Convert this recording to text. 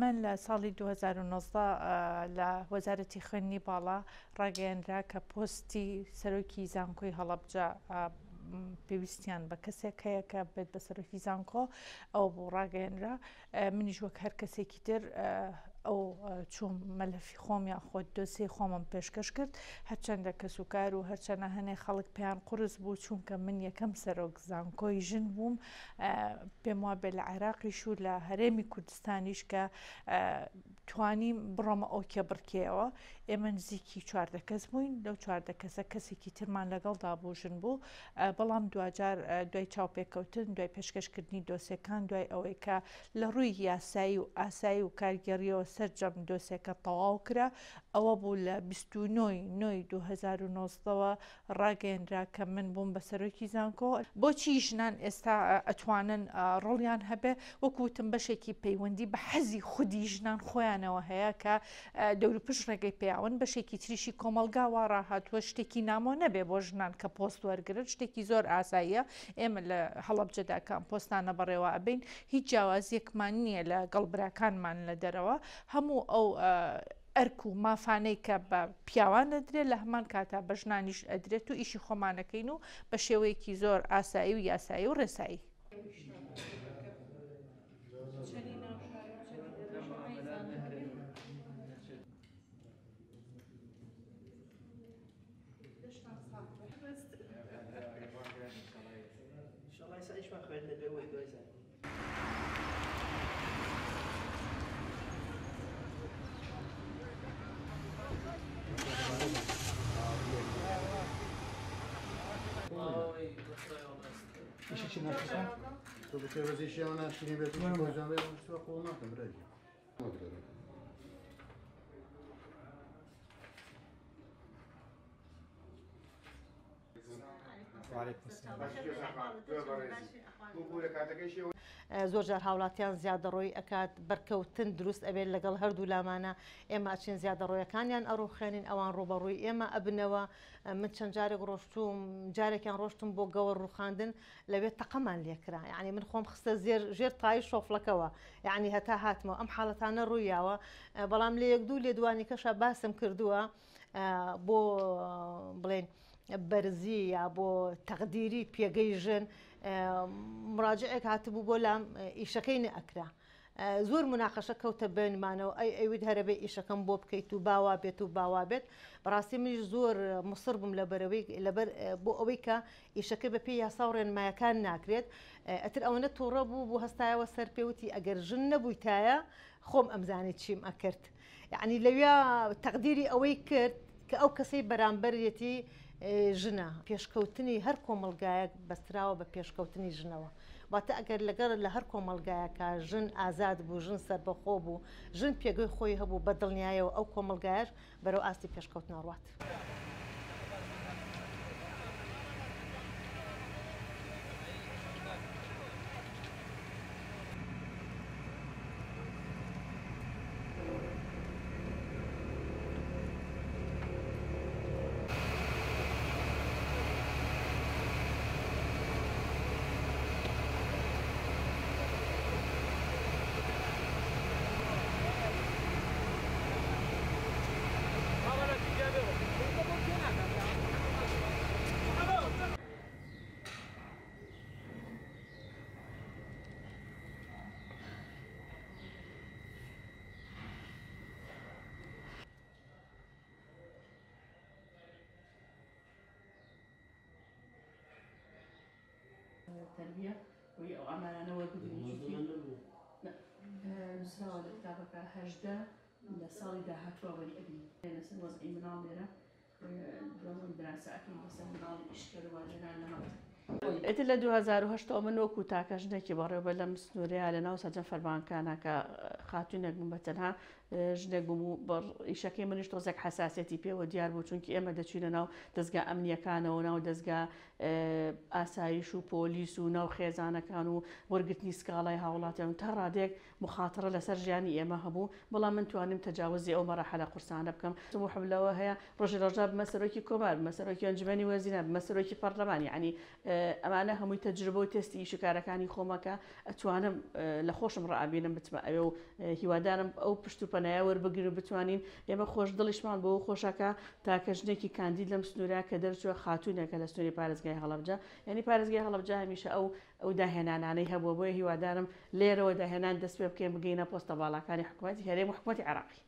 من لە ساڵی 2019 لە وەزارەتی خوێندنی باڵا ڕاگەیەنرا کە پۆستی سەرۆکی زانکۆی هەڵەبجە پێویستیان بە کەسێک هەیە کە بێت بە سەرۆکی زانکۆ ئەو بوو ڕاگەیەنرا منیش وەک هەر کەسێکی تر ئەو چووم مەلەفی خۆم یان خۆت دۆسیەی خۆمم پێشکەش کرد هەرچەندە کەسوکار و هەرچەنە هەنێ خەڵک پێیان قورس بوو چونکە من یەکەم سەرۆک زانکۆی ژن بووم پێم وابێ لە عێراقیش و لە هەرێمی کوردستانیش کە توانیم بڕۆمە ئەو کێبڕکێیەوە ئێمە نزیکی 14 کەس بووین لەو 14 کەسە کەسێکی ترمان لەگەڵدا بوو ژن بوو بەڵام دواجار دوای چاوپێکەوتن دوای پێشکەشکردنی دۆسێکان دوای ئەوەی کە لە ڕووی یاسایی و ئاسایی و کارگێڕیەوە سەرجەم دۆسێکە تەواو کرا ئەوە بوو لە 29 نۆی 2019ەوە ڕاگەیەنرا کە من بووم بە سەرۆکی زانکۆ. بۆچی ژنان ئێستا ئەتوانن ڕۆڵیان هەبێ؟ وەکو وتم بەشێکی پەیوەندی بە حەزی خودی ژنان خۆیانەوە هەیە کە دەوروپشت ڕێگەی پێیاون، بەشێکی تریشی کۆمەڵگا وا ڕاهاتووە شتێکی نامۆ نەبێ بۆ ژنان کە پۆست وەرگرن، شتێکی زۆر ئاساییە. ئێمە لە هەڵەبجەدا کە ئەم پۆستانە بەڕێوە ئەبەین هیچ جیاوازییەکمان نییە لە گەڵ براکانمان لە دەرەوە، هەموو ئەو ئەرک و مافانەی کە بە پیاوان ئەدرێت لە هەمان کاتا بە ژنانیش ئەدرێت و ئیشی خۆمان ئەکەین و بە شێوەیەکی زۆر ئاسایی و یاسایی و ڕێسایی. زۆر جار هاوڵاتیان زیادەڕۆیی ئەکات بەرکەوتن دروست ئەبێت لەگەڵ هەردوو لامانە ئێمە ئەچین زیادەڕۆیەکانیان ئەڕوخێنین ئەوان ڕوبەڕووی ئێمە ئەبنەوە من چەند جارێک ڕۆشتوم جارێکیان ڕۆشتم بۆ گەوەر ڕوخاندن لەوێ تەقەمان لێکرا یعنی من خۆم خستە زێر ژێر تای شۆفڵەکەوە یعنی هەتا هاتمەوە ئەم حاڵەتانە ڕوویاوە بەڵام لە یەک دوو لێدوانی کەشە باسم کردووە بۆ بڵێن بەرزی یا بۆ تەقدیری پێگەی ژن مراجعێک هاتبوو بۆ لام ئیشەکەی نەئەکرا زۆر مناقەشە کەوتە بینمانەوە ئەی ئەوید هەرەبێ ئیشەکەم بۆ بکەیت و باوا بێت و باوا بێت بەڕاستی منیش زۆر مصر بووم لەبەرەوەی لەبەر بۆ ئەوەی کە ئیشەکە بە پێی یاسا و ڕێنمایەکان ناکرێت ئەتر ئەوەنە تووڕە بوو بوو هەستایەوە سەر پێوتی ئەگەر ژن نەبوویتایە خۆم ئەمزانی چیم ئەکرد یەعنی لەویا تەقدیری ئەوەی کرد کە ئەو کەسەی بەرامبەرێتی ژنە. پێشکەوتنی هەر کۆمەڵگایەک بەستراوە بە پێشکەوتنی ژنەوە. واتە ئەگەر لەگەڵ لە هەر کۆمەڵگایەکا ژن ئازاد بوو، ژن سەربەخۆ بوو، ژن پێگەی خۆی هەبوو، بە دڵنیایەوە ئەو کۆمەڵگایەش بەرەو ئاستی پێشکەوتن ئەڕوات. تەربیە بۆی ئەو ئامارانە وەربگرین چونکی نووسراوە لە کتابەکە 18 لە ساڵی داهاتووە وەری ئەگرین لەسەر وەزعی مناڵ لێرە دوازم دراسە ئەکەین لەسەر مناڵی ئیشکەر و ژنان لە مەکتەب. ئیتر لە 2008 ەوە من وەکو تاکە ژنێکی بەڕێوەبەر لەم سنوورەیە لە ناو سەرجەم فەرمانکانە کە خاتوونێک بووم بە تەنها ژنێک بووم و بە ئیشەکەی منیش تۆزێک حەساسیەتی پێوە دیار بوو چونکی ئێمە دەچوینە ناو دەزگا ئەمنیەکانەوە ناو دەزگا ئاسایش و پۆلیس و ناو خێزانەکان و وەرگرتنی سکاڵای هاوڵاتیان و تا ڕادەیەک موخاتەرە لەسەر ژیانی ئێمە هەبوو، بەڵام من توانیم تەجاوزی ئەو مەراحەلە قورسانە بکەم. تموحم لەوە هەیە ڕۆژێ ڕۆژان ببمە سەرۆکی کۆمار، ببمە سەرۆکی ئەنجومەنی وەزیران، ببمە سەرۆکی پەڕلەمان، یەعنی ئەمانە هەمووی تەجروبە و تێستی ئیش و کارەکانی خۆمە کە ئەتوانم لە خۆشم ڕائەبینم بچمە ئەوێ و هیوادارم ئەو پشت و پەنایە وەربگرین و بتوانین ئێمە خۆش دڵیشمان بەوە خۆشە کە تاکە ژنێکی کاندید لەم سنوورە کە دەرچووە خاتوونێکە لە سنووری پارێزگای هەڵەبجە یعنی پارێزگای هەڵەبجە هەمیشە ئەو ئەو داهێنانانەی هەبووە بۆیە هیوادارم لێرەوە داهێنان دەست پێ بکەین بگەینە پۆستە باڵاکانی حکوومەتی هەرێم و حکوومەتی عێراقی.